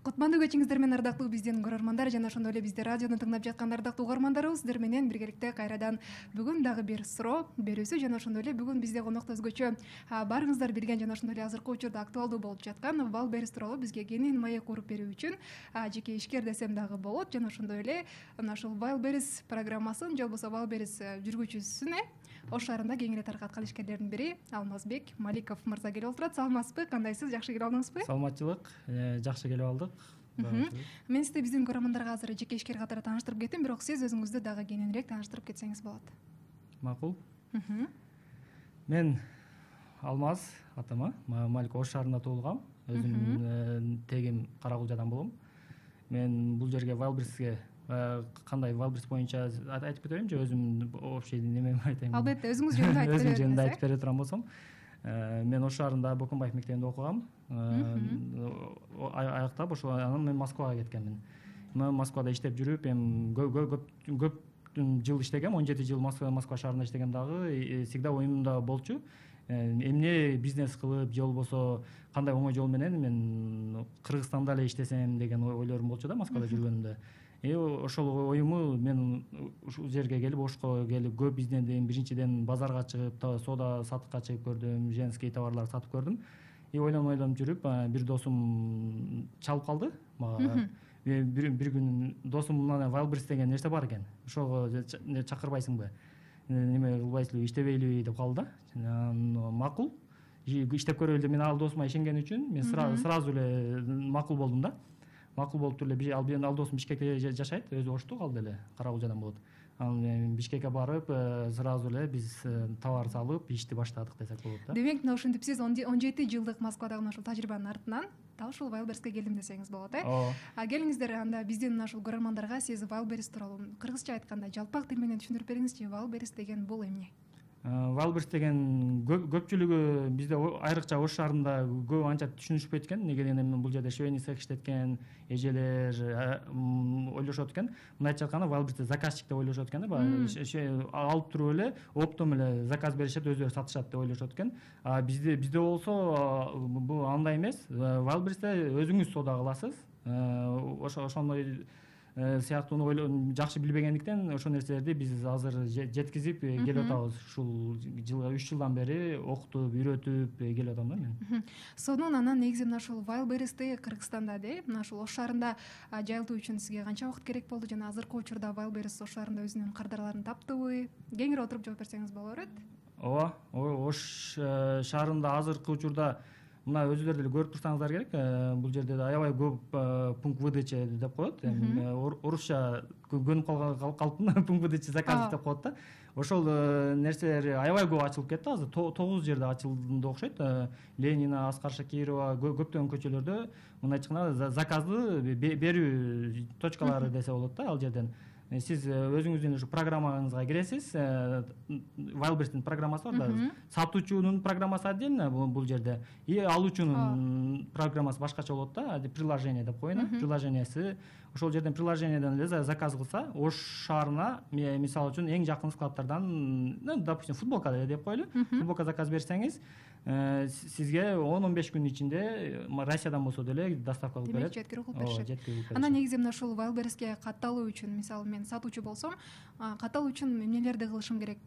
Кутмандуу кечиңиздер менен ардактуу биздин көрөрмандар жана ошондой эле бизди радиону тыңдап жаткан ардактуу угармандарыбыз, сиздер менен биргеликте кайрадан бүгүн дагы бир суроо берүүсү жана ошондой эле бүгүн бизде конокто өзгөчө баарыңыздар билген жана ошондой эле азыркы учурда актуалдуу болуп жаткан Вайлберрис тууралуу бизге кеңинен маек уруп берүү үчүн жеке ишкер десем дагы болот жана ошондой эле мына ушул Вайлберрис программасын же болбосо Вайлберрис жүргүзүүчүсүн Ош шаарында кеңири таркаткан ишкерлердин бири Алмазбек Маликов мырза келип отурат. Саламатсызбы? Кандайсыз? Жакшы келип алдыңызбы? Саламатчылык, жакшы келип алдык. Мен сизди биздин көрөрмандарга азыр жеке ишкер катары тааныштырып кеттим, бирок сиз өзүңүздү дагы кененирээк тааныштырып кетсеңиз болот. Макул. Мен Алмаз атыма, Малик Ош шаарында туулгам. Өзүм тегим Каракулжадан болом. Мен бул жерге Вайлберриске кандай Вайлберрис боюнча айтып кетейинби же өзүм общий немеми айтайынбы? Албетте, өзүңүз жөнүндө айтып бериңиз. Өзүм жөнүндө айтып бере турган болсом, мен Ош шаарында Боконбаев мектебинде окугам. Аяктап ошо анан мен Москвага кеткенмин. Мен Москвада иштеп жүрүп, эми көп жыл иштегем, 17 жыл Москва шаарында иштегем дагы. Всегда оюмда болчу. Эмне бизнес кылып, же болбосо кандай оңой жол менен мен Кыргызстанда эле иштесем деген ойлорум болчу да Москвада жүргөнүмдө. Ошол оюму мен ушул жерге келип, Ошко келип көп издендим. Биринчиден базарга чыгып, сода сатыкка чыгып көрдүм, женский товарлар сатып көрдүм. Ойлонуп жүрүп, бир досум чалып калды мага. Бир күн досум мына Вайлберрис деген нерсе бар экен. Ошого чакырбайсыңбы? Неме кылбайсызбы, иштебейлиби деп калды да. Макул. Иштеп көрөлү деп мен ал досума ишенген үчүн мен сразу эле макул болдум да. Макул болуп туруп эле ал досум Бишкекте жашайт, өзү Ошту, калды эле Каракулжадан болот. Анан Бишкекке барып, сразу эле биз товар салып, ишти баштадык десек болот да. Демек, мына ушинтип сиз 17 жылдык Москвадагы ушул тажрыйбанын артынан дал ушул Вайлберриске келдим десеңиз болот, Келиңиздер, анда биздин мына ушул көрөрмандарга сиз Вайлберрис тууралуу кыргызча айтканда жалпак тил менен түшүндүрүп бериңизчи. Вайлберрис деген бул эмне? Вайлберрис деген көпчүлүгү бизде айрыкча Ош шаарында көп анча түшүнүшпөйт экен. Неге дегенде бул жерде швейный цех иштеткен эжелер ойлошот экен. Мындайча айтканда Вайлберристе заказчик деп ойлошот экен да. Алып туруп эле оптом эле заказ беришет, өздөрү сатышат деп ойлошот экен. Бизде болсо бул андай эмес. Вайлберристе өзүңүз сода кыласыз. Ошондой сыяктууну жакшы билбегендиктен ошол нерселерди биз азыр жеткизип келип атабыз. Ушул жылга 3 жылдан бери окутуп, үйрөтүп келип атам да мен. Сонун анан негизи мына ушул Вайлберристи Кыргызстанда мына ушул Ош шаарында жайылтуу үчүн сизге канча убакыт керек болду жана азыркы учурда Вайлберрис Ош шаарында өзүнүн кардарларын таптыбы? Кеңири отуруп жооп берсеңиз боло берет. Ооба, Ош шаарында азыркы учурда мына өзүлөр деле көрүп турсаңыздар керек. Бул жерде аябай көп пункт выдача деп коет. Орусча көнүп калыптын пункт выдача заказ деп коет да. Ошол нерселер аябай көп ачылып кетти азыр. 9 жерде ачылды окшойт. Ленина, Аскар Шакирова көптөгөн көчөлөрдө мындайча айтканда заказды берүү точкалары десе болот да ал жерден. Сиз өзүңүздүн ушу программаңызга киресиз. Вайлберристин программасы бар да. Сатуучунун программасы отдельно бул жерде. И алуучунун программасы башкача болот да. Приложение деп коеюн. Приложениясы. Ошол жерден приложениеден эле заказ кылса, Ош шаарына мисалы үчүн эң жакын складтардан, допустим, футболка деп коелу. Футболка заказ берсеңиз, сизге 10-15 күн ичинде Россиядан болсо деле доставка кылып берет. Жеткирип кылып беришет. Анан негизи мына ушул Вайлберриске катталуу үчүн, мисалы мен сатуучу болсом, катталуу үчүн эмнелерди кылышым керек?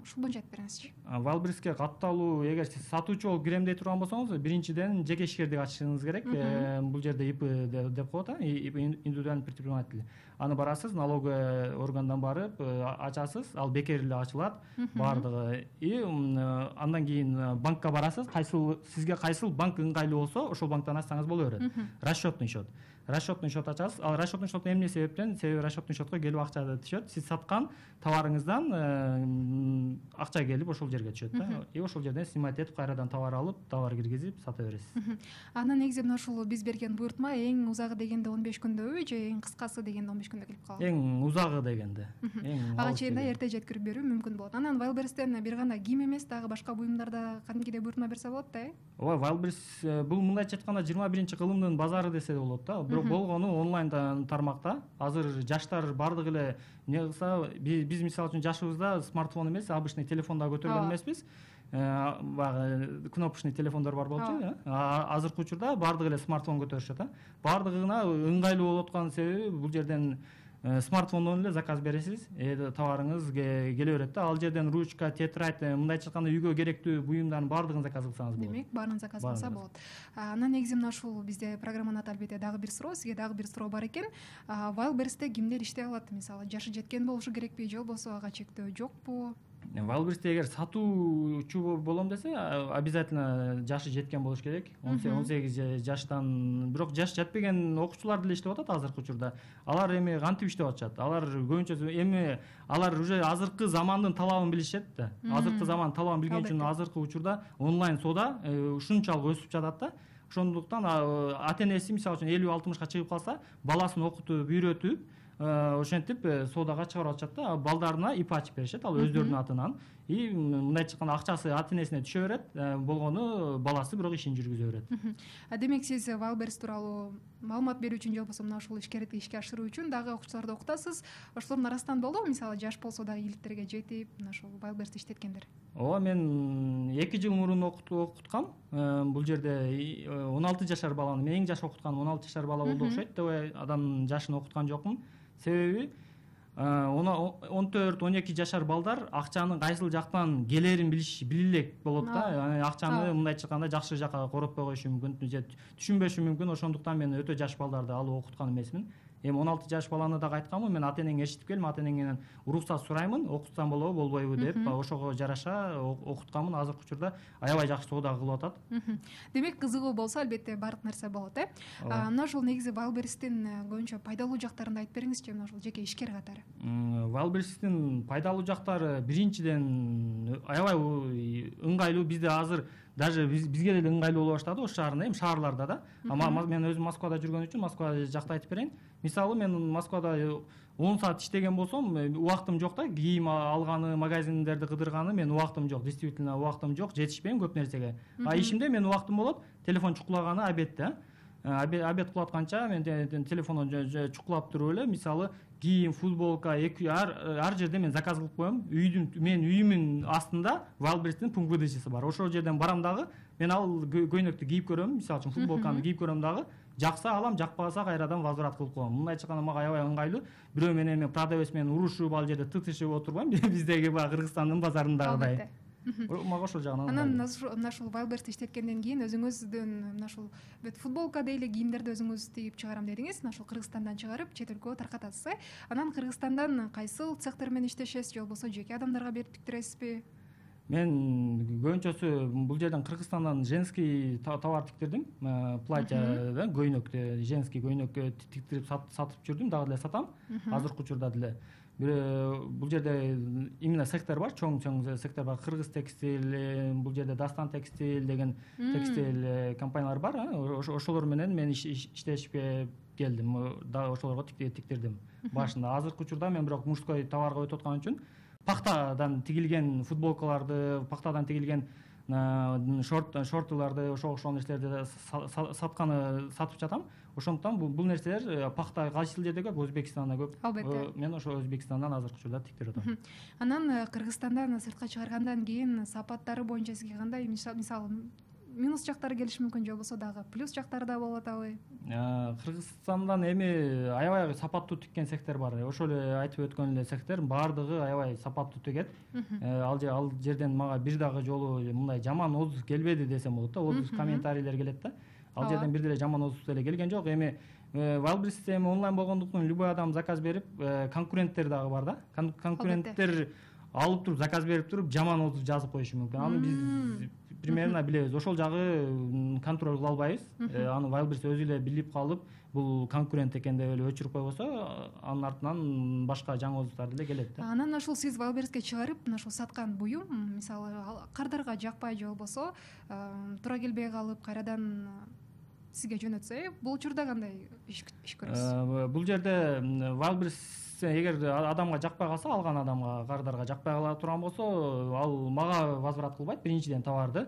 Ушул боюнча айтып бериңизчи. Вайлберриске катталуу, эгер сиз сатуучу болуп кирем дей турган болсоңуз, биринчиден жеке ишкердик ачышыңыз керек. Бул жерде ИП деп коет, индивидуальный предприниматель. Аны барасыз, налоговый органдан барып ачасыз, ал бекер эле ачылат баардыгы. И андан кийин банкка барасыз, сизге кайсыл банк ыңгайлуу болсо, ошол банктан ачсаңыз боло берет. Расчетный счет. Расчетный счет ачасыз. Ал расчетный счет эмне себептен? Себеби расчетный счетко келип акча түшөт. Сиз саткан товарыңыздан акча келип ошол жерге түшөт да. И ошол жерден снимать этип, кайрадан товар алып, товар киргизип сата бересиз. Анан негизи мына ушул биз берген буйртма эң узагы дегенде 15 күндөбү же эң кыскасы дегенде 15 күндө келип калат? Эң узагы дегенде. Ага чейин да эрте жеткирип берүү мүмкүн болот. Анан Вайлберристен бир гана кийим эмес, дагы башка буюмдарда кадимкидей буйртма берсе болот да, Ооба, Вайлберрис бул мындайча айтканда 21-кылымдын базары десе болот да. Бирок болгону онлайн тармакта. Азыр жаштар бардыгы эле не кылса, биз мисалы үчүн жашыбызда смартфон эмес, обычный телефонда көтөргөн эмеспиз. баягы кнопочный телефондор бар болчу. Азыркы учурда баардыгы эле смартфон көтөрүшөт. Баардыгына ыңгайлуу болуп аткан себеби бул жерден смартфондон эле заказ бересиз, товарыңыз келе берет да. Ал жерден ручка, тетрадь, мындайча айтканда үйгө керектүү буюмдардын баардыгын заказ кылсаңыз болот. Демек, баарын заказ кылса болот. Анан негизи мына ушул бизде программанын аты албетте дагы бир суроо, сизге дагы бир суроо бар экен. Wildberries'те кимдер иштей алат? Мисалы, жашы жеткен болушу керекпи же болбосо ага чектөө жокпу? Wildberries'те эгер сатуучу болом десе, обязательно жашы жеткен болуш керек. 18 жаштан, бирок жаш жетпеген окуучулар деле иштеп атат азыркы учурда. Алар эми кантип иштеп атышат? Алар көбүнчө эми алар уже азыркы замандын талабын билишет да. Азыркы замандын талабын билген үчүн азыркы учурда онлайн соода ушунчалык өсүп жатат да. Ошондуктан ата-энеси мисалы үчүн 50-60 чыгып калса, баласын окутуп, үйрөтүп, ошентип соодага чыгарып атышат да. Балдарына ип ачып беришет, ал өздөрүнүн атынан. И мындайча айтканда акчасы ата-энесине түшө берет, болгону баласы бирок ишин жүргүзө берет. Демек, сиз Wildberries тууралуу маалымат берүү үчүн же болбосо мына ушул ишкерди ишке ашыруу үчүн дагы окуучуларды окутасыз. Ошолордун арасынан болдубу, мисалы, жаш болсо дагы иликтерге жетип, мына ушул Wildberries'ти иштеткендер? Ооба, мен 2 жыл мурун окуткам. Бул жерде 16 жашар баланы, мен эң жаш окутканым 16 жашар бала болду окшойт. Адамдын жашын окуткан жокмун. Себеби 14-12 жашар балдар акчанын кайсыл жактан келерин билилек болот да. Акчаны мындайча айтканда жакшы жакка коротпой коюшу мүмкүн, же түшүнбөшү мүмкүн. Ошондуктан мен өтө жаш балдарды алып окуткан эмесмин. Эми 16 жаш баланы дагы айтканмын, мен ата-энеңе эшитип келдим, ата-энеңден уруксат сураймын, окутсам болобу, болбойбу деп, ошого жараша окутканмын. Азыркы учурда аябай жакшы соода кылып атат. Демек, кызыгуу болсо, албетте баардык нерсе болот, Мына ушул негизи Wildberries'тин көбүнчө пайдалуу жактарын айтып бериңизчи, мына ушул жеке ишкер катары. Wildberries'тин пайдалуу жактары биринчиден аябай ыңгайлуу. Бизде азыр даже бизге деле ыңгайлуу боло баштады, ош шаарында, эми шаарларда да. Мен өзүм Москвада жүргөн үчүн Москва жакта айтып берейин. Мисалы, мен Москвада 10 саат иштеген болсом, убактым жок да, кийим алганы, магазиндерди кыдырганы, мен убактым жок, действительно убактым жок, жетишпейм көп нерсеге. Ишимде мен убактым болот, телефон чукулаганы обедте. Обед кылып атканча мен телефондон чукулап туруп эле, мисалы, кийим, футболка, ар жерде мен заказ кылып коем. Мен үйүмдүн астында Wildberries'тин пункт выдачасы бар. Ошол жерден барам дагы, мен ал көйнөктү кийип көрөм, мисалы үчүн футболканы кийип көрөм дагы, жакса алам, жакпаса кайрадан возврат кылып коем. Мындайча айтканда мага аябай ыңгайлуу. Бирөө менен мен продавец менен урушуп, ал жерде тытышып отурбайм. Биздеги баягы Кыргызстандын базарындагыдай. Мага ошол жагынан. Анан мына ушул Wildberries'ти иштеткенден кийин өзүңүздүн мына ушул футболка дейли кийимдерди өзүңүз тигип чыгарам дедиңиз. Мына ушул Кыргызстандан чыгарып, чет өлкөгө таркатасыз. Анан Кыргызстандан кайсыл цехтер менен иштешесиз, же болбосо жеке адамдарга берип тиктиресизби? Мен көбүнчөсү бул жерден Кыргызстандан женский товар тиктирдим. Платья, көйнөк, женский көйнөк тиктирип сатып жүрдүм, дагы деле сатам. Азыркы учурда деле. Бул жерде именно сектор бар, чоң сектор бар. Кыргыз текстиль, бул жерде Дастан текстиль деген текстиль компаниялар бар. Ошолор менен мен иштешипе келдим. Дагы ошолорго тиктирдим башында. Азыркы учурда мен бирок мужской товарга өтүп аткан үчүн пахтадан тигилген футболкаларды, пахтадан тигилген шортуларды, ошол нерселерди сатып жатам. Ошондуктан бул нерселер пахта кайсыл жерде көп, Өзбекстанда көп. Албетте. Мен ошол Өзбекстандан азыркы учурда тиктирип атам. Анан Кыргызстандан сыртка чыгаргандан кийин сапаттары боюнча сизге кандай, мисалы, минус жактары келиши мүмкүн, же болбосо дагы плюс жактары да болуп атабы? Кыргызстандан эми аябай сапаттуу тиккен сектор бар. Ошол эле айтып өткөн эле сектор баардыгы аябай сапаттуу тигет. Ал жерден мага бир дагы жолу мындай жаман отзыв келбеди десем болот да. Отзыв комментарийлер келет да. Ал жерден бир деле жаман отзыв деле келген жок. Эми Wildberries'те эми онлайн болгондуктан любой адам заказ берип, конкуренттер дагы бар да. Конкуренттер алып туруп заказ берип туруп жаман отзыв жазып коюшу мүмкүн. Аны биз примерно билебиз. Ошол жагы контроль кыла албайбыз. Аны Wildberries өзү эле билип калып, бул конкурент экен деп эле өчүрүп койбосо, анын артынан башка жаңы отзывдар деле келет да. Анан ошол сиз Wildberries'ке чыгарып, мына ошол саткан буюм, мисалы, кардарга жакпай же болбосо туура келбей калып, кайрадан сизге жөнөтсө, бул учурда кандай иш көрөсүз? Бул жерде Wildberries эгер адамга жакпай калса, алган адамга, кардарга жакпай кала турган болсо, ал мага возврат кылбайт. Биринчиден товарды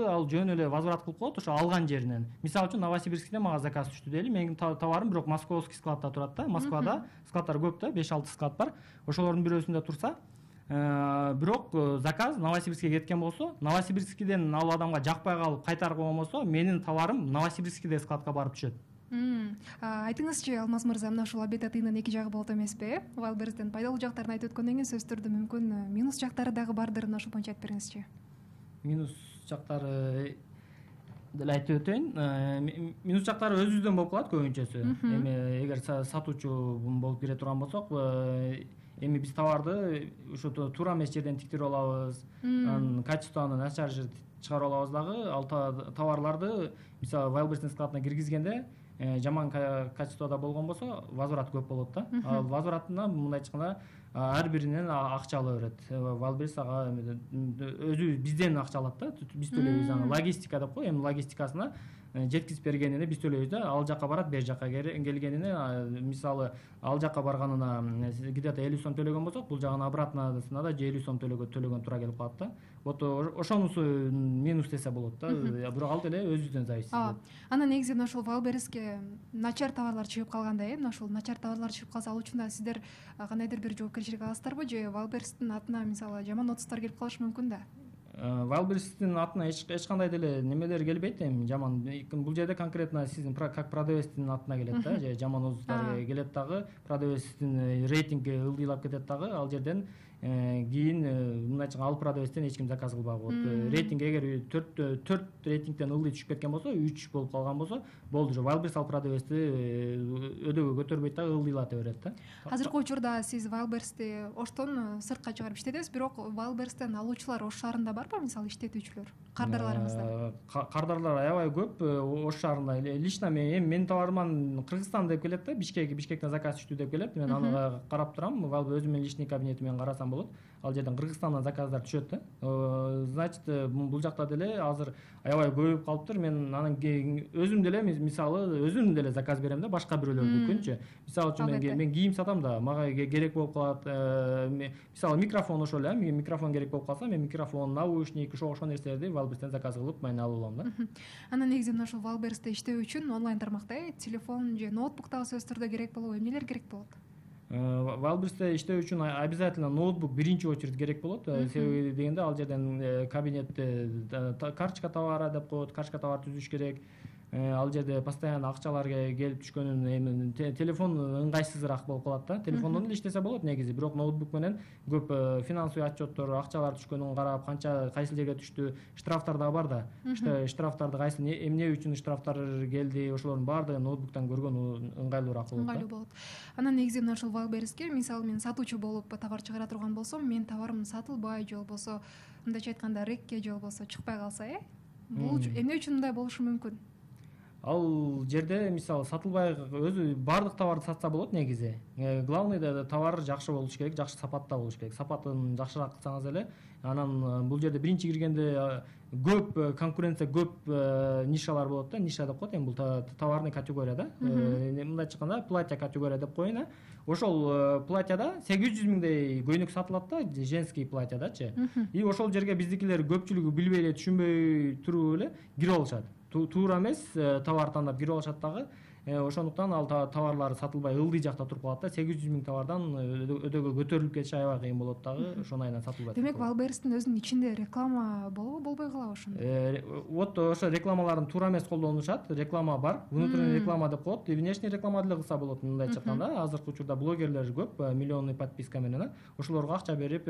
ал жөн эле возврат кылып коет ошо алган жеринен. Мисалы үчүн Новосибирскте мага заказ түштү дейли. Менин товарым бирок московский складта турат да. Москвада складдар көп да, 5-6 склад бар. Ошолордун бирөөсүндө турса, бирок заказ Новосибирскке кеткен болсо, Новосибирскиден ал адамга жакпай калып кайтарып койгон менин товарым Новосибирскиде складка барып түшөт. Айтыңызчы, Алмаз мырза, мына ушул обед атыйнын эки жагы болот эмеспи, э? Wildberries'тен пайдалуу жактарын айтып өткөндөн кийин сөзсүз түрдө мүмкүн минус жактары дагы бардыр, мына ушул боюнча айтып бериңизчи. Минус жактары деле айтып өтөйүн. Минус жактары өзүбүздөн болуп калат көбүнчөсү. Эми эгер сатуучу болуп кире турган болсок, эми биз товарды ушу туура эмес жерден тиктирип алабыз, качествону начар чыгарып алабыз дагы. Ал товарларды мисалы Wildberries'тин складына киргизгенде жаман качествода болгон болсо возврат көп болот да. Ал возвратына мындай айтканда ар биринен акча ала берет. Wildberries ага өзү бизден акча алат да. Биз төлөйбүз аны. Логистика деп кой, эми логистикасына жеткизип бергенине биз төлөйбүз да. Ал жака барат, бер жака келгенине мисалы ал жака барганына где-то 50 сом төлөгөн болсок, бул жагына обратнасына да 50 сом төлөгөн туура келип калат да. Вот ошонусу минус десе болот да. Бирок ал деле өзүбүздөн зависит болот. Анан негизи ошол Wildberries'ке начар товарлар чыгып калганда, мына ошол начар товарлар чыгып калса, ал үчүн да сиздер кандайдыр бир жоопкерчилик аласыздарбы, же Wildberries'тин атына мисалы жаман отуздар келип калышы мүмкүн да? Wildberries'тин атына эч кандай деле немелер келбейт, эми жаман. Бул жерде конкретно сиздин как продавецтин атына келет да, же жаман отуздар келет дагы, продавецтин рейтинги ылдыйлап кетет дагы. Ал жерден кийин мындай айтканда ал продавецтен эч ким заказ кылбагы болот. Рейтинг эгер 4 рейтингден ылдый түшүп кеткен болсо, 3 болуп калган болсо, болду. Wildberries ал продавецти өдөгө көтөрбөйт да, ылдыйлата берет да. Азыркы учурда сиз Wildberries'ти Оштон сыртка чыгарып иштетесиз, бирок Wildberries'тен алуучулар Ош шаарында барбы, мисалы иштетүүчүлөр, кардарларыңыздар? Кардарлар аябай көп Ош шаарында. Лично менин товарыман Кыргызстан деп келет да, Бишкектен заказ түштү деп келет. Мен аны карап турам, өзүмдүн личный кабинетимен карасам болот. Ал жерден Кыргызстандан заказдар түшөт да. Значит, бул жакта деле азыр аябай көбөйүп калыптыр. Мен анан өзүм деле мисалы өзүм деле заказ берем да, башка бирөөлөрдүкүнчү. Мисалы үчүн мен кийим сатам да, мага керек болуп калат. Мисалы микрофон ошол эле, микрофон керек болуп калса, мен микрофон, наушник, ошол нерселерди Wildberries'тен заказ кылып, мен алып алам да. Анан негизи мына ошол Wildberries'те иштөө үчүн онлайн тармакта телефон же ноутбук дагы сөзсүз түрдө керек болобу? Эмнелер керек болот? Wildberries'те иштөө үчүн обязательно ноутбук биринчи очередь керек болот. Себеби дегенде ал жерден кабинетте карточка товара деп коет, карточка товар түзүш керек. Ал жерде постоянно акчалар келип түшкөнүн эми телефон ыңгайсызыраак болуп калат да. Телефондон эле иштесе болот негизи, бирок ноутбук менен көп финансовый отчеттор, акчалар түшкөнүн карап, канча кайсы жерге түштү, штрафтар да бар да. Штрафтарды кайсы эмне үчүн штрафтар келди, ошолордун баардыгын ноутбуктан көргөн ыңгайлуураак болот. Ыңгайлуу болот. Анан негизи мына ушул Wildberries'ке мисалы мен сатуучу болуп товар чыгара турган болсом, менин товарым сатылбай же болбосо мындайча айтканда рекке же болбосо чыкпай калса, бул эмне үчүн мындай болушу мүмкүн? Ал жерде мисалы сатылбай өзү баардык товарды сатса болот негизи. Главный товар жакшы болуш керек, жакшы сапатта болуш керек. Сапатын жакшыраак кылсаңыз эле, анан бул жерде биринчи киргенде көп конкуренция, көп нишалар болот да. Ниша деп коет, эми бул товарный категория да. Мындай айтканда платья категория деп коеюн. Ошол платьяда 800 миңдей көйнөк сатылат да, женский платьядачы. И ошол жерге биздикилер көпчүлүгү билбей эле, түшүнбөй туруп эле кирип алышат. Туура эмес товар тандап кирип алышат дагы. Ошондуктан ал товарлар сатылбай ылдый жакта туруп калат да. 800 миң товардан өдөгө көтөрүлүп кетиши аябай кыйын болот дагы. Ошону айынан сатылбайт. Демек, Wildberries'тин өзүнүн ичинде реклама болобу, болбой калабы ошондо? Вот ошо рекламаларын туура эмес колдонушат. Реклама бар, внутренний реклама деп коет. Внешний реклама деле кылса болот, мындай айтканда. Азыркы учурда блогерлер көп, миллионный подписка менен. Ошолорго акча берип,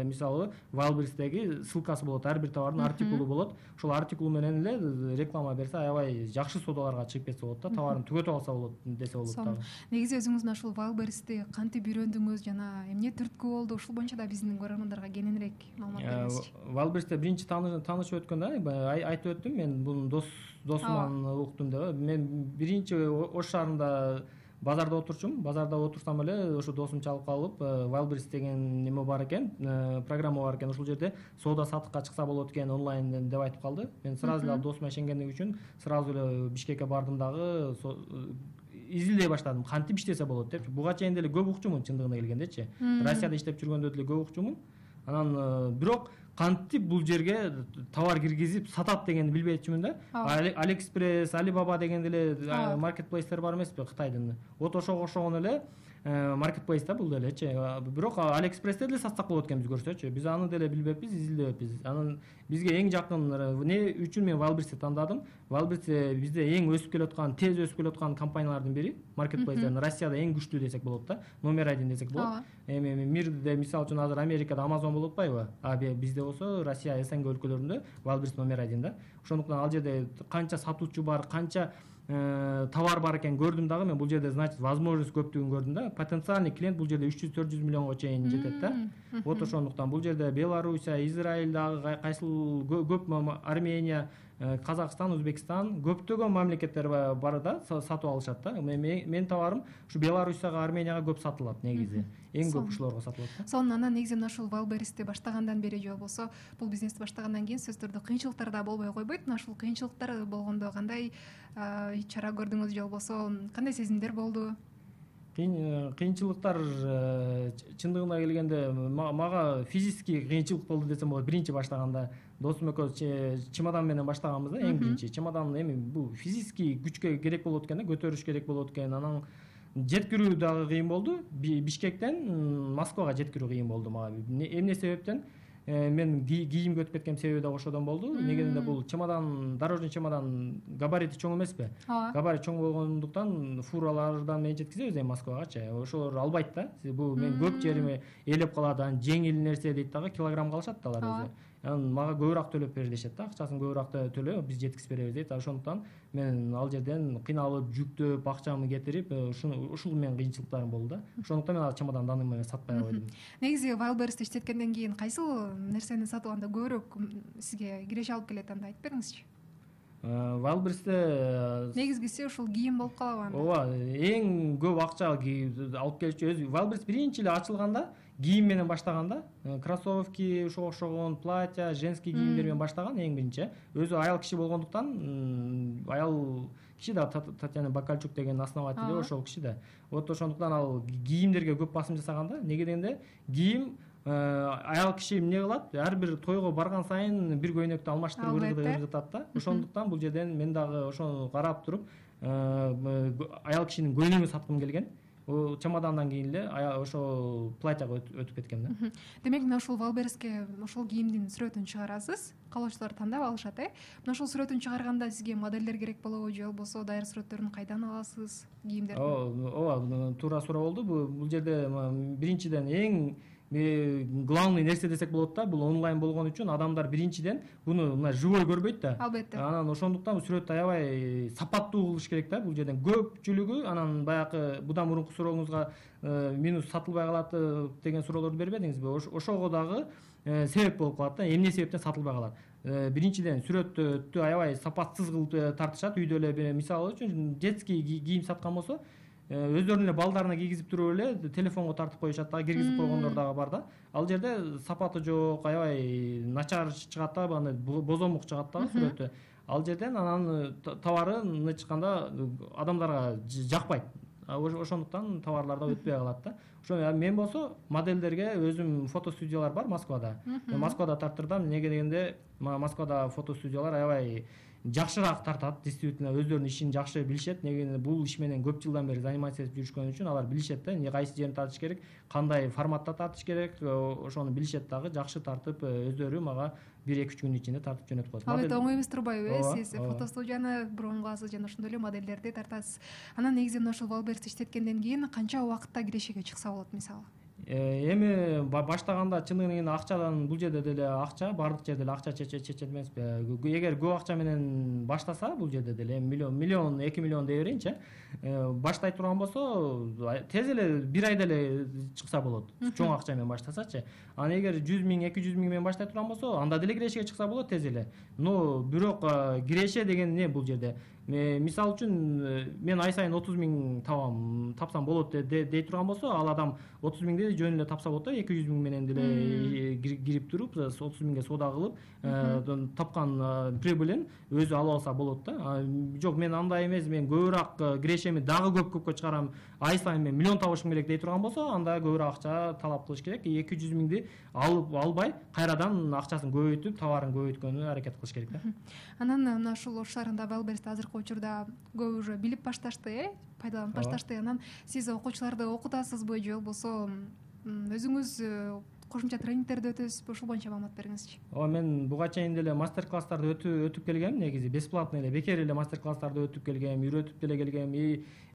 мисалы Wildberries'теги ссылкасы болот, ар бир товардын артикулу болот. Ошол артикул менен эле реклама берсе, аябай жакшы соодаларга чыгып кетсе болот да. Товарын түгөтүп алса болот десе болот дагы. Негизи өзүңүз мына ушул Wildberries'ти кантип үйрөндүңүз жана эмне түрткү болду? Ушул боюнча да биздин көрөрмандарга кененирээк маалымат бериңизчи. Wildberries'те биринчи таанышып өткөндө айтып өттүм, мен бунун досуман уктум деп. Мен биринчи Ош шаарында базарда отурчумун. Базарда отурсам эле ошо досум чалып калып, Wildberries деген неме бар экен, программа бар экен, ошол жерде соода сатыкка чыкса болот экен онлайн деп айтып калды. Мен сразу эле досума ишенгендик үчүн сразу эле Бишкекке бардым дагы, изилдей баштадым, кантип иштесе болот деп. Буга чейин деле көп укчумун, чындыгына келгендечи. Россияда иштеп жүргөндө деле көп укчумун. Анан бирок кантип бул жерге товар киргизип сатат дегенди билбейчүмүн да. AliExpress, Alibaba деген деле маркетплейстер бар эмеспи Кытайдын. Вот ошого окшогон эле маркетплейс да бул делечи. Бирок AliExpress'те деле сатсак болот экен биз көрсөчү. Биз аны деле билбеппиз, изилдебеппиз. Анын бизге эң жакын эмне үчүн мен Wildberries'ти тандадым. Wildberries бизде эң өсүп келаткан, тез өсүп келаткан компаниялардын бири. Marketplace'ден Россияда эң күчтүү десек болот да. Номер 1 десек болот. Эми мирде мисалы үчүн азыр Америкада Amazon болуп атпайбы? Бизде болсо Россия, СНГ өлкөлөрүндө Wildberries номер 1 да. Ошондуктан ал жерде канча сатуучу бар, канча товар бар экен көрдүм дагы. Мен бул жерде значит возможность көптүгүн көрдүм да. Потенциальный клиент бул жерде 300-400 миллионго чейин жетет да. Вот ошондуктан бул жерде Белоруссия, Израиль дагы кайсыл көп, Армения, Казакстан, Өзбекстан көптөгөн мамлекеттер бар да, сатып алышат да. Мен товарым ушу Белоруссияга, Арменияга көп сатылат негизи. Эң көп ушуларга сатылат да. Сонун анан негизи ушул Wildberries'ти баштагандан бери же болбосо бул бизнести баштагандан кийин сөзсүз түрдө кыйынчылыктар да болбой койбойт. Ушул кыйынчылыктар болгондо кандай чара көрдүңүз же болбосо кандай сезимдер болду? Кыйынчылыктар чындыгына келгенде мага физический кыйынчылык болду десем болот. Биринчи баштаганда досум экөөбүз чемодан менен баштаганбыз да, эң биринчи. Чемодан эми бул физический күчкө керек болот экен да, көтөрүш керек болот экен. Анан жеткирүү дагы кыйын болду. Бишкектен Москвага жеткирүү кыйын болду мага. Эмне себептен? Мен кийимге өтүп кеткен себеби да ошодон болду. Негизинде бул чемодан, дорожный чемодан габарити чоң эмеспи? Габарит чоң болгондуктан фуралардан менен жеткизебиз эми Москвагачы. Ошолор албайт да. Бул мен көп жериме ээлеп калат, анан жеңил нерсе дейт дагы, килограммга алышат да алар өзү. Анан мага көбүрөөк төлөп бер дешет да, акчасын көбүрөөк төлө, биз жеткизип беребиз дейт. Ошондуктан мен ал жерден кыйналып, жүктөп, акчамды кетирип, ушул менин кыйынчылыктарым болду да. Ошондуктан мен ал чемодан данный сатпай койдум. Негизи Wildberries'ти иштеткенден кийин кайсыл нерсени сатып алганда көбүрөөк сизге киреше алып келет, анда айтып бериңизчи. Wildberries'те негизгиси ушул кийим болуп калабы анда? Ооба, эң көп акча алып келчү өзү. Wildberries биринчи эле ачылганда кийим менен баштаганда, кроссовки, ошого окшогон платья, женский кийимдер менен баштаган эң биринчи. Өзү аял киши болгондуктан, аял киши да Татьяна Бакальчук деген основатель ошол киши да. Вот ошондуктан ал кийимдерге көп басым жасаганда, неге дегенде кийим аял киши эмне кылат? Ар бир тойго барган сайын бир көйнөктү алмаштырып ыргытат да. Ошондуктан бул жерден мен дагы ошону карап туруп, аял кишинин көйлөгүн саткым келген. Чемодандан кийин эле ошол платьяга өтүп кеткем да. Демек, мына ушул Wildberries'ке ошол кийимдин сүрөтүн чыгарасыз. Каалоочулар тандап алышат, Мына ушул сүрөтүн чыгарганда сизге моделдер керек болобу же болбосо дайыр сүрөттөрүн кайдан аласыз кийимдерди? Ооба, туура суроо болду. Бул жерде биринчиден эң главный нерсе десек болот да, бул онлайн болгон үчүн адамдар биринчиден буну мына живой көрбөйт да. Албетте. Анан ошондуктан сүрөттү аябай сапаттуу кылыш керек да. Бул жерден көпчүлүгү анан баягы будан мурунку сурооңузга минус сатылбай калат деген суроолорду бербедиңизби? Ошого дагы себеп болуп калат да. Эмне себептен сатылбай калат? Биринчиден сүрөттү аябай сапатсыз кылып тартышат. Үйдө эле мисалы үчүн детский кийим саткан болсо өздөрүнүн эле балдарына кийгизип туруп эле телефонго тартып коюшат да, киргизип койгондор дагы бар да. Ал жерде сапаты жок, аябай начар чыгат да, аны бозомук чыгат да сүрөтү. Ал жерден анан товары чыкканда адамдарга жакпайт. Ошондуктан товарлар да өтпөй калат да. Ошо мен болсо модельдерге өзүм фотостудиялар бар Москвада. Мен Москвада тарттырдым. Неге дегенде Москвада фотостудиялар аябай жакшыраак тартат, действительно өздөрүнүн ишин жакшы билишет. Неге бул иш менен көп жылдан бери заниматься этип жүрүшкөн үчүн алар билишет да, кайсы жерин тартыш керек, кандай форматта тартыш керек, ошону билишет дагы, жакшы тартып өздөрү мага 1-2 күнүн ичинде тартып жөнөтүп коет. Албетте оңой эмес турбайбы, сиз фотостудияны броун кыласыз жана ошондой эле модельдерди тартасыз. Анан негизи ошол Wildberries'ти иштеткенден кийин канча убакытта кирешеге чыкса болот мисалы? Эми баштаганда чындыгын келгенде акчадан бул жерде деле акча, бардык жерде эле акча чечет эмеспи. Эгер көп акча менен баштаса бул жерде деле миллион, 2 миллион дей берейинчи, баштай турган болсо тез эле 1 айда эле чыкса болот. Чоң акча менен баштасачы. Анан эгер 100 000, 200 000 менен баштай турган болсо, анда деле кирешеге чыкса болот тез эле. Но бирок киреше деген эмне бул жерде? Мисалы үчүн мен ай сайын 30 000 тапсам болот дей турган болсо, ал адам 30 000 жөн эле тапса болот да, 200 000 менен деле кирип туруп 30 000 соода кылып тапкан прибылин өзү алып алса болот да. Жок, мен андай эмес, мен көбүрөөк кирешеми дагы көпкө чыгарам, ай сайын мен миллион табышым керек дей турган болсо, анда көбүрөөк акча талап кылыш керек. 200 000 албай кайрадан акчасын көбөйтүп, товарын көбөйткөнгө аракет кылыш керек да. Анан мына ушул Ош шаарында Wildberries'ти азыркы азыркы учурда көп уже билип башташты, пайдаланып башташты. Анан сиз окуучуларды окутасызбы же болбосо өзүңүз кошумча тренингтерди өтөсүзбү? Ушул боюнча маалымат бериңизчи. Мен буга чейин деле мастер класстарды өтүп келгем, негизи бесплатный эле, бекер эле мастер класстарды өтүп келгем, үйрөтүп деле келгем.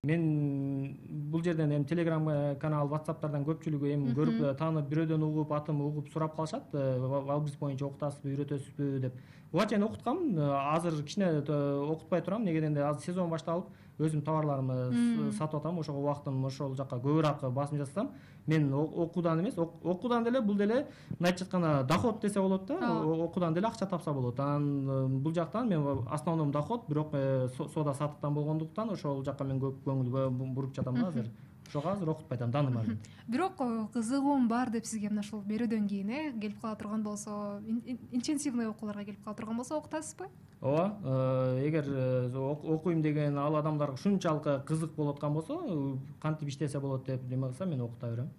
Мен бул жерден эми Telegram канал, WhatsApp'тардан көпчүлүгү эми көрүп таанып, бирөөдөн угуп, атым угуп сурап калышат, Валбриз боюнча окутасызбы, үйрөтөсүзбү деп. Буга чейин окуткам, азыр кичине окутпай турам, неге дегенде азыр сезон башталып, өзүм товарларымды сатып атам, ошого убактым ошол жака көбүрөөк басым жасасам, мен окуудан эмес, окуудан деле бул деле мындайча айтканда доход десе болот да, окуудан деле акча тапса болот. Анан бул жактан мен основном доход, бирок соода сатыктан болгондуктан ошол жака мен көп көңүл буруп жатам да азыр. Ошого азыр окутпай атам, дааным. Бирок кызыгуум бар деп сизге мына ушул берүүдөн кийин келип кала турган болсо, интенсивный окууларга келип кала турган болсо окутасызбы? Ооба, эгер окуйм деген ал адамдарга ушунчалык кызык болуп аткан болсо, кантип иштесе болот деп неме кылса, мен окута берем.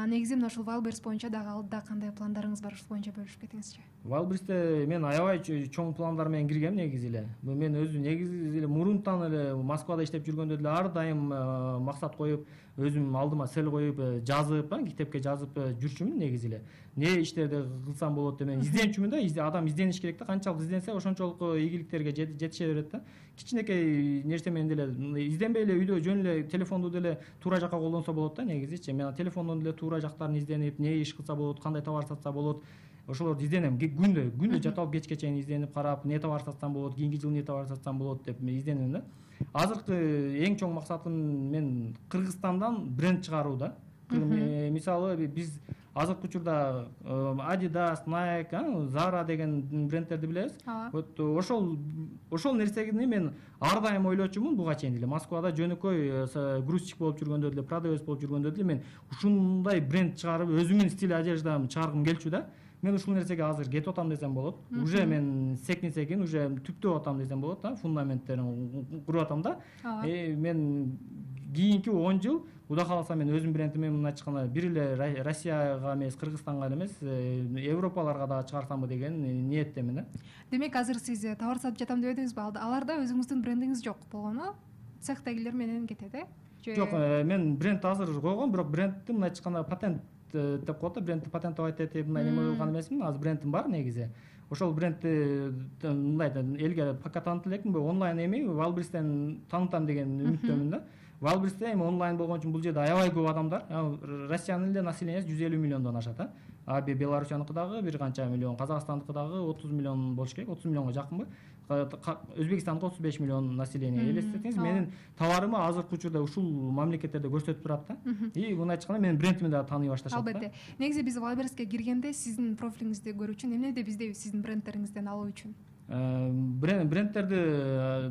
Негизи мына ушул Валбриз боюнча дагы алдыда кандай пландарыңыз бар, ушул боюнча бөлүшүп кетиңизчи. Валбризде мен аябай чоң пландар менен киргем негизи эле. Мен өзүм негизи эле мурунтан эле Москвада иштеп жүргөндө деле ар дайым максат коюп, өзүм алдыма цел коюп, жазып, китепке жазып жүрчүмүн негизи эле. Не иштерди кылсам болот деп мен изденчүмүн да, адам издениш керек да, канчалык изденсе ошончолук ийгиликтерге жетише берет да. Кичинекей нерсе менен деле изденбей эле үйдө жөн эле телефонду деле туура жакка колдонсо болот да, негизичи. Мен телефондон деле туура жактарын изденип, не иш кылса болот, кандай товар сатса болот, ошолорду изденем. Күндө жата алып кечке чейин изденип карап, не товар сатсам болот, кийинки жылы не товар сатсам болот деп мен изденем да. Азыркы эң чоң максатым мен Кыргызстандан бренд чыгаруу да. Мисалы биз азыркы учурда Adidas, Nike, Zara деген брендтерди билебиз. Вот ошол нерсени мен ар дайым ойлочумун буга чейин деле. Москвада жөнөкөй грузчик болуп жүргөндө деле, продавец болуп жүргөндө деле мен ушундай бренд чыгарып, өзүмдүн стиль одеждамды чыгаргым келчү да. Мен ушул нерсеге азыр кетип атам десем болот. Уже мен секин уже түптөп атам десем болот да, фундаменттерин куруп атам да. Мен кийинки 10 жыл Кудай кааласа мен өзүм брендиме мындайча айтканда бир эле Россияга эмес, Кыргызстанга эмес, Европаларга да чыгарсамбы деген ниеттемин да. Демек азыр сиз товар сатып жатам деп едиңизби? Аларда өзүңүздүн брендиңиз жок болгону цехтегилер менен кетет, Жок, мен бренд азыр койгом, бирок брендти мындайча айтканда патент деп коет да, брендти патентовать этип мындай неме кылган эмесмин. Азыр брендим бар негизи. Ошол брендти мындай элге пока таанытып элекмин, онлайн эми Валбризден таанытам деген үмүттөмүн да. Валбризде эми онлайн болгон үчүн бул жерде аябай көп адамдар. Россиянын эле населениясы 150 миллиондон ашат. Белоруссияныкы дагы бир канча миллион, Казакстандыкы дагы 30 миллион болуш керек, 30 миллионго жакынбы. Өзбекстандыкы 35 миллион население. Элестетиңиз, менин товарымы азыркы учурда ушул мамлекеттерде көрсөтүп турат да. Мындайча айтканда менин брендимди дагы тааный башташат да. Албетте. Негизи биз Валбризге киргенде сиздин профилиңизди көрүү үчүн эмне деп издейбиз сиздин брендтериңизден алуу үчүн? Брендтерди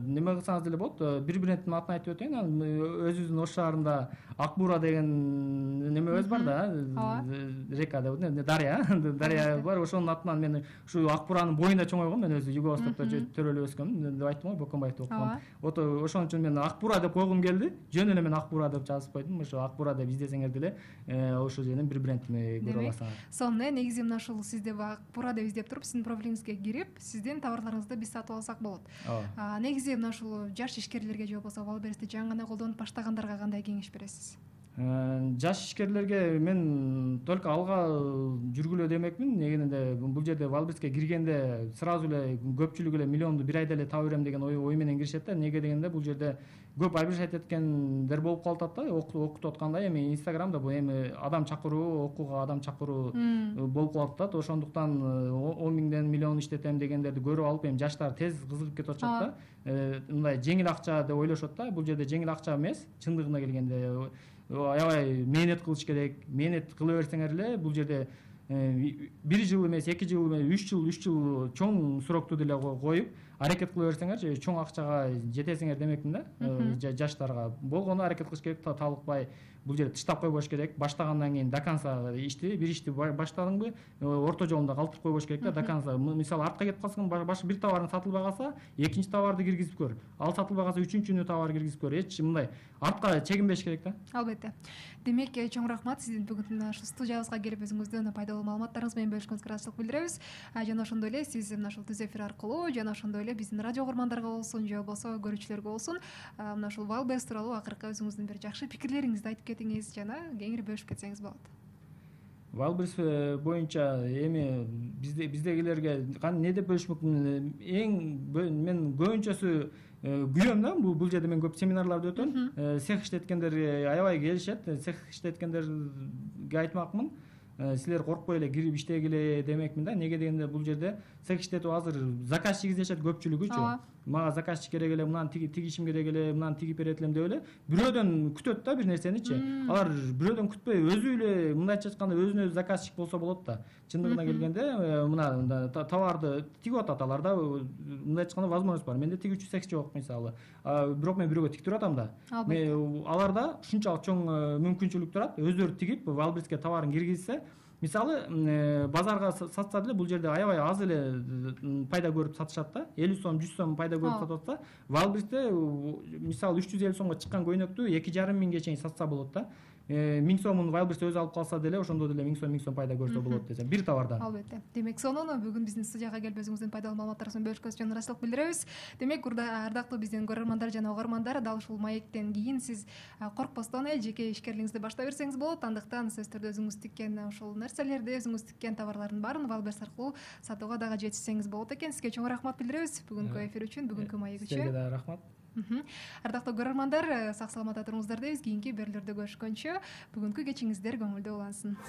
неме кылсаңыз деле болот. Бир брендтин атын айтып өтөйүн. Өзүбүздүн Ош шаарында Ак Бура деген немебиз бар да. Река деп, Дарья бар. Ошонун атынан мен ушу Ак Буранын боюнда чоңойгом. Мен өзү Юго-Востокто төрөлүп өскөм деп айттым го, Бөкөнбаевде окугам. Ошон үчүн мен Ак Бура деп койгум келди. Жөн эле мен Ак Бура деп жазып койдум. Ошо Ак Бура деп издесеңер деле ошол жерден бир брендтими көрө аласыңар. Сонун, негизи мына ушул сизде Ак Бура деп издеп туруп, сиздин профилиңизге кирип, сиздин товарларыңызды биз сатып алсак болот. Негизи мына ушул жаш ишкерлерге же болбосо Валбризди жаңы гана колдонуп баштагандарга кандай кеңеш бересиз? Жаш ишкерлерге мен только алга жүргүлө демекмин. Негенде бул жерде Валбризге киргенде сразу эле көпчүлүк эле миллионду бир айда эле таба берем деген ой менен киришет да. Неге дегенде бул жерде көп обижать эткендер болуп калып атат да. Окутуп атканда эми Инстаграмда бул эми адам чакыруу, окууга адам чакыруу болуп калып атат. Ошондуктан 10 миңден миллион иштетем дегендерди көрүп алып, эми жаштар тез кызыгып кетип атышат да. Мындай жеңил акча деп ойлошот да. Бул жерде жеңил акча эмес, чындыгына келгенде аябай мээнет кылыш керек. Мээнет кыла берсеңер эле бул жерде 1 жыл эмес, 2 жыл эмес, 3 жыл чоң срокту деле коюп аракет кыла берсеңер, чоң акчага жетесиңер демекмин да. Жаштарга болгону аракет кылыш керек, талыкпай бул жерде тыштап койбош керек. Баштагандан кийин до конца бир ишти баштадыңбы, орто жолунда калтырып койбош керек да, до конца. Мисалы артка кетип калсаң, башка бир товарың сатылбай калса, экинчи товарды киргизип көр. Ал сатылбай калса, үчүнчүнү товар киргизип көр. Эч мындай артка чегинбеш керек да. Албетте. Демек, чоң рахмат сиздин бүгүн ушул студиябызга келип өзүңүздүн пайдалуу маалыматтарыңыз менен бөлүшкөнгүзгө ыраазычылык билдиребиз. Жана ошондой эле сиз мына ушул түз эфир аркылуу жана ошондой эле эле биздин радио угармандарга болсун же болбосо көрүүчүлөргө болсун мына ушул Wildberries тууралуу акыркы өзүңүздүн бир жакшы пикирлериңизди айтып кетиңиз жана кеңири бөлүшүп кетсеңиз болот. Wildberries боюнча эми биздегилерге эмне деп бөлүшмөк мүмкүн, мен көбүнчөсү күйөм да, бул жерде мен көп семинарларды өтөм. Цех иштеткендер аябай келишет. Цех иштеткендерге айтмакмын, силер коркпой эле кирип иштегиле демекмин да. Неге дегенде бул жерде цех иштетип азыр заказчик издешет көпчүлүгүчү. Мага заказчик керек эле, мынаны тигишим керек эле, мынаны тигип берет элем деп эле бирөөдөн күтөт да бир нерсеничи. Алар бирөөдөн күтпөй өзү эле мындайча айтканда өзүнө өзү заказчик болсо болот да. Чындыгына келгенде мына товарды тигип атат алар да. Мындайча айтканда возможность бар. Менде тигүүчү цех жок мисалы. Бирок мен бирөөгө тиктирип атам да. Аларда ушунчалык чоң мүмкүнчүлүк турат. Өздөрү тигип Wildberriesке товарын киргизсе, мисалы базарга сатса деле бул жерде аябай аз эле пайда көрүп сатышат да. 50 сом, 100 сом пайда көрүп сатып атса, Wildberriesте мисалы 350 сомго чыккан көйнөктү 2,5 миңге чейин сатса болот да. 1000 сомун Wildberries өзү алып калса деле ошондо деле 1000 сом пайда көрсө болот десем, бир товардан. Албетте. Демек, сонун бүгүн биздин студияга келип өзүңүздүн пайдалуу маалыматтарыңызды бөлүшкөнүңүз үчүн ыраазычылык билдиребиз. Демек, ардактуу биздин көрөрмандар жана угармандар, дал ушул маектен кийин сиз коркпостон жеке ишкерлигиңизди баштай берсеңиз болот. Андыктан сөзсүз түрдө өзүңүз тиккен ушул нерселерди, өзүңүз тиккен товарлардын баарын Wildberries аркылуу сатууга дагы жетишсеңиз болот экен. Сизге чоң рахмат билдиребиз бүгүнкү эфир үчүн, бүгүнкү маек үчүн. Сизге да рахмат. Ардактуу көрөрмандар, сак саламатта туруңуздар дейбиз. Кийинки берүүлөрдө көрүшкөнчө бүгүнкү кечиңиздер көңүлдүү улансын.